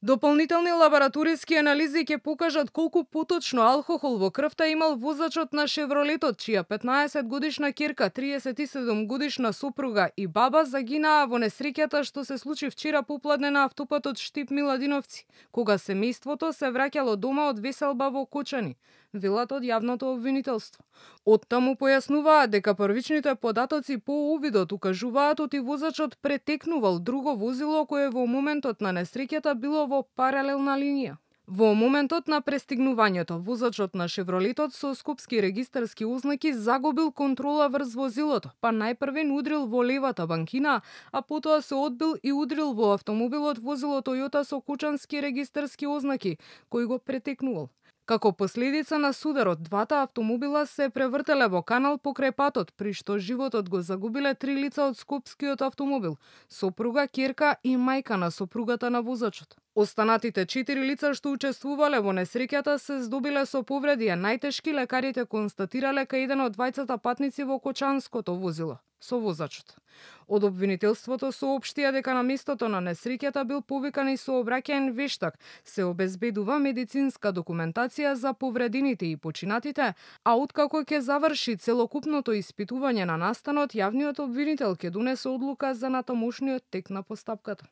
Дополнителни лабораториски анализи ќе покажат колку поточно алкохол во крвта имал возачот на Шевролетот, чија 15-годишна ќерка, 37-годишна сопруга и баба загинаа во несреќата што се случи вчера попладне на автопатот Штип-Миладиновци, кога семејството се враќало дома од веселба во Кочани, велат од јавното обвинителство. Оттаму појаснуваат дека првичните податоци по увидот укажуваат оти возачот претекнувал друго возило кое во моментот на несреќата било во паралелна линија. Во моментот на пристигнувањето, возачот на Шевролетот со скопски регистарски ознаки загубил контрола врз возилото, па најпрвен удрил во левата банкина, а потоа се одбил и удрил во автомобилот возило Тојота со кочански регистарски ознаки, кој го претекнувал. Како последица на сударот, двата автомобила се превртеле во канал покрај патот, при што животот го загубиле 3 лица од скопскиот автомобил: сопруга, ќерка и мајка на сопругата на возачот. Останатите 4 лица што учествувале во несреќата се здобиле со повреди, а најтешки лекарите констатирале кај еден од двајцата патници во кочанското возило со возачот. Од обвинителството соопштија дека на местото на несреќата бил повикан и сообраќаен вештак, се обезбедува медицинска документација за повредените и починатите, а откако ќе заврши целокупното испитување на настанот, јавниот обвинител ќе донесе одлука за натамошниот тек на постапката.